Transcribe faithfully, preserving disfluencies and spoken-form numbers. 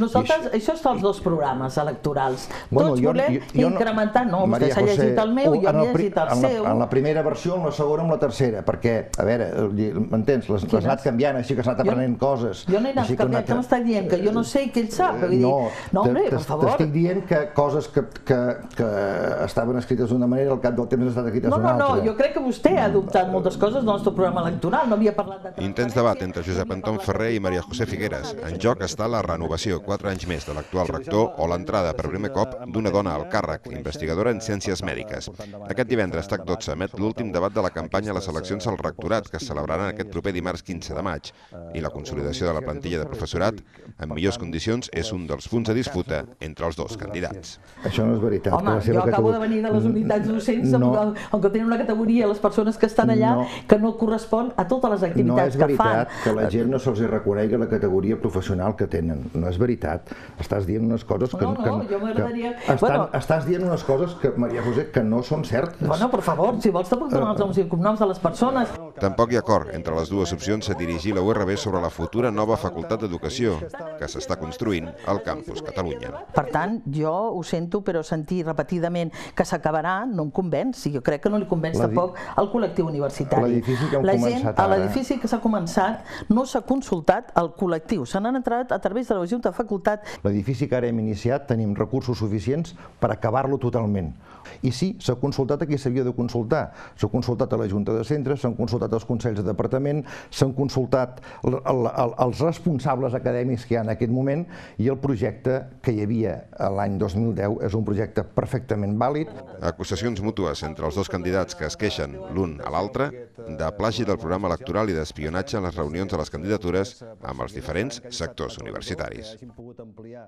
Nosaltres, això està als dos programes electorals. Bueno, Tots jo, volem jo, jo incrementar, no, vostè Maria s'ha José, llegit el meu, jo en m'he el pri- llegit el en la, seu. En la primera versió, en la segona, en la tercera, perquè, a veure, m'entens, les has anat canviant, així que has anat aprenent coses. Jo no he anat així que canviant, què m'està dient? Que jo no sé què ell sap? Vull dir, No, no, hombre, per favor. t'estic dient que coses que, que, que estaven escrites d'una manera, al cap del temps han estat escrites No, d'una no, altra. no, jo crec que vostè ha adoptat moltes coses del nostre programa electoral, no havia parlat de... Intens debat entre Josep Anton Ferrer i Maria José Figueres. En joc està la renovació, quatre anys més, de l'actual rector o l'entrada per primer cop d'una dona al càrrec, investigadora en ciències mèdiques. Aquest divendres, TAC dotze emet l'últim debat de la campanya a les eleccions al rectorat, que es celebraran aquest proper dimarts quinze de maig. I la consolidació de la plantilla de professorat en millors condicions és un dels punts de disputa entre els dos candidats. Això no és veritat. Home, jo acabo de venir de les unitats docents, on que tenen una categoria, les persones que estan allà, que no correspon a totes les activitats que fan. No és veritat que la gent no se'ls reconegui la categoria professional que tenen. No és veritat. Estàs dient unes coses que... No, no, jo m'agradaria... Estàs dient unes coses que, Maria José, que no són certes. Bueno, per favor, si vols te puc donar els noms i cognoms de les persones. Tampoc hi ha acord entre les dues opcions a dirigir la U R B sobre la futura nova Facultat d'Educació que s'està construint al campus Catalunya. Per tant, jo ho sento, però sentir repetidament que s'acabarà no em convenç. Jo crec que no li convenç tampoc al col·lectiu universitari. L'edifici que hem La començat gent, a ara... l'edifici que s'ha començat no s'ha consultat al col·lectiu. Se n'han entrat a través de la Junta de Facultat. L'edifici que ara hem iniciat tenim recursos suficients per acabar-lo totalment. I sí, s'ha consultat a qui s'havia de consultar. S'ha consultat a la Junta de Centres, s'han consultat als Consells de Departament, s'han consultat els responsables acadèmics que hi ha en aquest moment i el projecte que hi havia l'any dos mil deu és un projecte perfectament vàlid. Acusacions mútues entre els dos candidats que es queixen l'un a l'altre de plagi del programa electoral i d'espionatge en les reunions de les candidatures amb els diferents sectors universitaris.